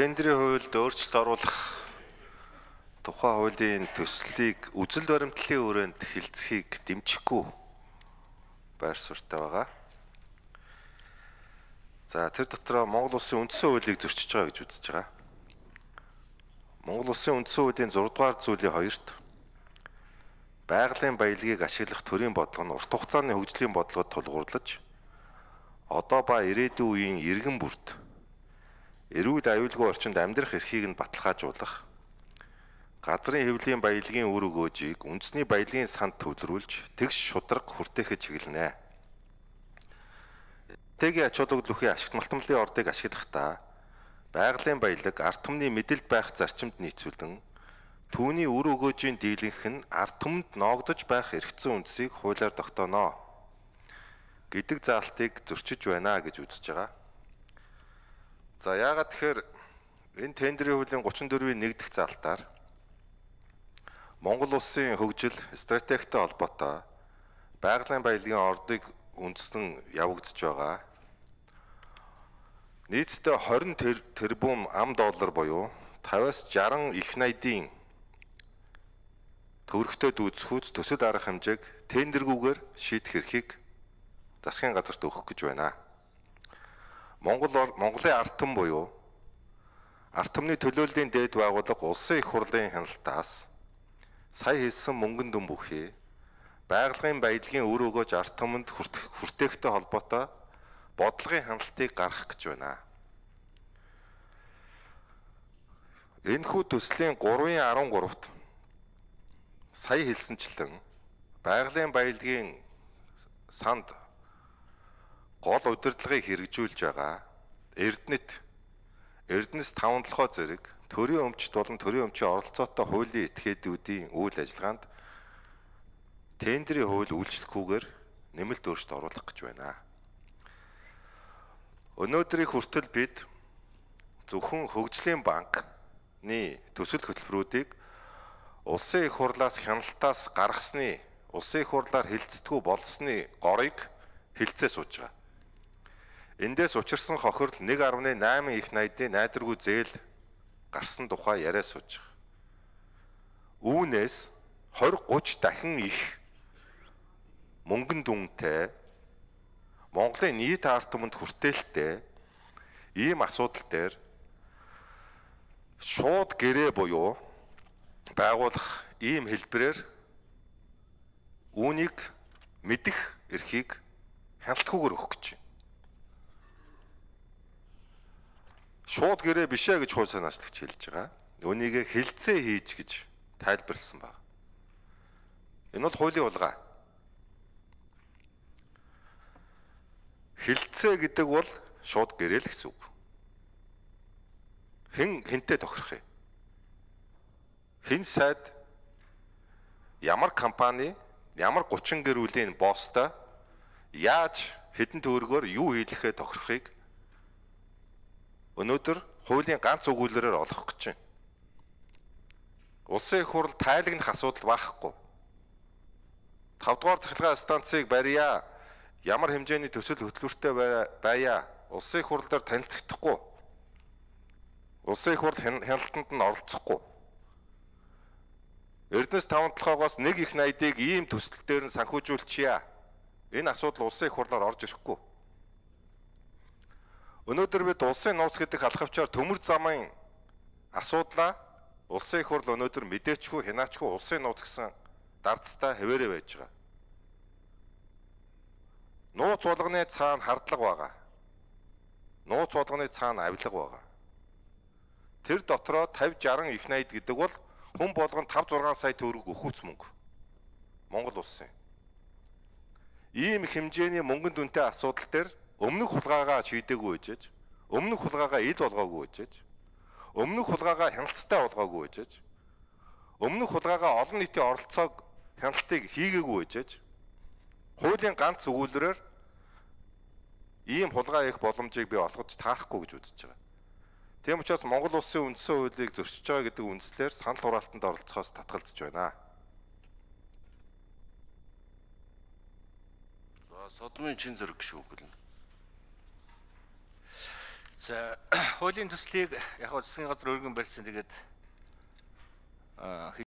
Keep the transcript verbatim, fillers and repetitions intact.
Тендерийн хуульд өөрчлөлт оруулах тухай хуулийн төслийг үзэл баримтлалын өрөөнд хилцхийг дэмжихгүй байр суурьтай байгаа. За тэр дотроо Монгол Улсын үндсэн хуулийг зөрчиж байгаа гэж үзэж байгаа. Монгол Улсын үндсэн хуулийн зураг дугаар зүйлийн хоёрт байгалийн баялагийг ашиглах төрийн бодлого нь урт хугацааны хөгжлийн бодлогод тулгуурлаж одоо ба ирээдүйн үеийн иргэн бүрт эрүүл аюулгүй орчинд амьдрах эрхийг нь баталгаажуулах, газрын хэвлэлийн баялагын үр өгөөжийг үндэсний баялагын санд төвлөрүүлж тэгш шударга хүртэхэд чиглэнэ. Тэгийн ач холбогдолын ашигт малтмлын ордыг ашиглахдаа байгалийн баялаг ард түмний мэдэлд байх зарчимд нийцүүлэн түүний үр өгөөжийн дийлэнх нь ард түмэнд ноогдож байх эрхцэн үндсийг хуулиар тогтооно гэдэг заалтыг зөрчиж байна гэж үзэж байгаа. За яагаад тэгэхээр энэ тендерийн хуулийн гучин дөрвийн нэг дахь заалтаар Монгол Улсын хөгжил стратегтэй холбоотой байгалийн баялагын ордыг үндэслэн явагдаж байгаа. Нийтдээ хорин тэрбум ам доллар буюу тавиас жаран их найдын төгрөгтэй дүүцхүүц төсөл арга хэмжээг тендергүүгээр шийдэх эрхийг засгийн газарт өгөх гэж байна. Монгол Монголын ард түмэн буюу ард түмний төлөөллийн дээд байгууллага улсын их хурлын хяналтаас сая хэлсэн мөнгөн дүн бүхий байгалийн баялагын үр өгөөж ард түмэнд хүртэхтэй холбоотой бодлогын хяналтыг гаргах гэж байна. Энэхүү төслийн гурван арван гуравт сая хэлсэнчлэн байгалийн баялагын санд гол удирдлагыг хэрэгжүүлж байгаа Эрдэнэт Эрдэнэс таван толгой зэрэг төрийн өмчт болон төрийн өмчийн оролцоотой хуулийн этгээдүүдийн үйл ажиллагаанд тендерийн хууль үйлчлэхгүйгээр нэмэлт өөрчлөлт оруулах гэж байна. Өнөөдрийн хүртэл бид зөвхөн хөгжлийн банкны төсөл хөтөлбөрүүдийг улсын их хурлаас хяналтаас гаргасны улсын их хурлаар хилцдэггүй болсны горыг хилцээ сууж байгаа. Эндээс учирсан хохирол нэг гаруй найман их найдын найдваргүй зээл гарсан тухай яриа сууж байгаа. Үүнээс двадцать гуйч дахин их мөнгөн дүнтэй Монголын нийт ард түмэнд хүртээлтэй ийм асуудал дээр шууд гэрээ буюу байгуулах ийм хэлбэрээр үүнийг мэдэх эрхийг хяналтгүйгээр өгөх гэж байна. Шууд гэрээ бишээ гэж хууль санаачлагч хэлж байгаа. Үүнийг хилцээ хийж гэж тайлбарлсан байна. Энэ бол хуулийн улгаа. Хилцээ гэдэг бол шууд гэрээ л гэсэн үг. Хэн хэнтэй тохирох юм? Хэн сайд ямар компани ямар гучин гэр бүлийн босстой яаж хэдэн төгрөгөөр юу хийлэхээ тохирохыг өнөөдөр хуулийн ганц өгүүлбэрээр олох гэж байна. Улсын их хурл тайлагнах асуудал байхгүй. тавд дугаар цахилгаан станцыг барья. Ямар хэмжээний төсөл хөтөлбөртэй байя. Улсын их хурлаар танилцахдаггүй. Улсын их хурл хяналтанд нь оролцохгүй. Эрдэнэс таван толгоогоос нэг их найдыг ийм төсөл дээр нь санхүүжүүлчихье. Энэ асуудал улсын их хурлаар орж ирэхгүй. Өнөөдөр бид улсын нууц гэдэг алхавчаар төмөр замын асуудлаа улсын их хурл өнөөдөр мэдээчгүй хянаачгүй улсын нууц гэсэн дардстай хэвээрээ байж байгаа. Нууц болгоны цаана хардлага байгаа. Нууц болгоны цаана авилга байгаа. Тэр дотроо тавьж жаран их найд гэдэг бол хүн болгонд тавь зургаан сая төгрөг өгөхүүц мөнгө. Монгол улсын. Ийм хэмжээний мөнгөн дүнтэй асуудал дээр өмнөх хулгайгаа шийдээгүй байжээж, өмнөх хулгайгаа ил болгоогүй байжээж, өмнөх хулгайгаа хяналттай болгоогүй байжээж, өмнөх хулгайгаа олон нийтийн оролцоог хяналтыг хийгээгүй байжээж, хуулийн ганц өгүүлбэрээр ийм хулгай их боломжийг би олгож таарахгүй гэж үзэж байгаа. Тийм учраас Монгол Улсын үндсэн хуулийг зөрчиж байгаа гэдэг үндслээр санал хураалтанд оролцохоос татгалзаж байна. За содмын чин зэрэг шүү гэл. За хуулийн төслийг яг хөө засгийн газар өргөн барьсан. Тэгээд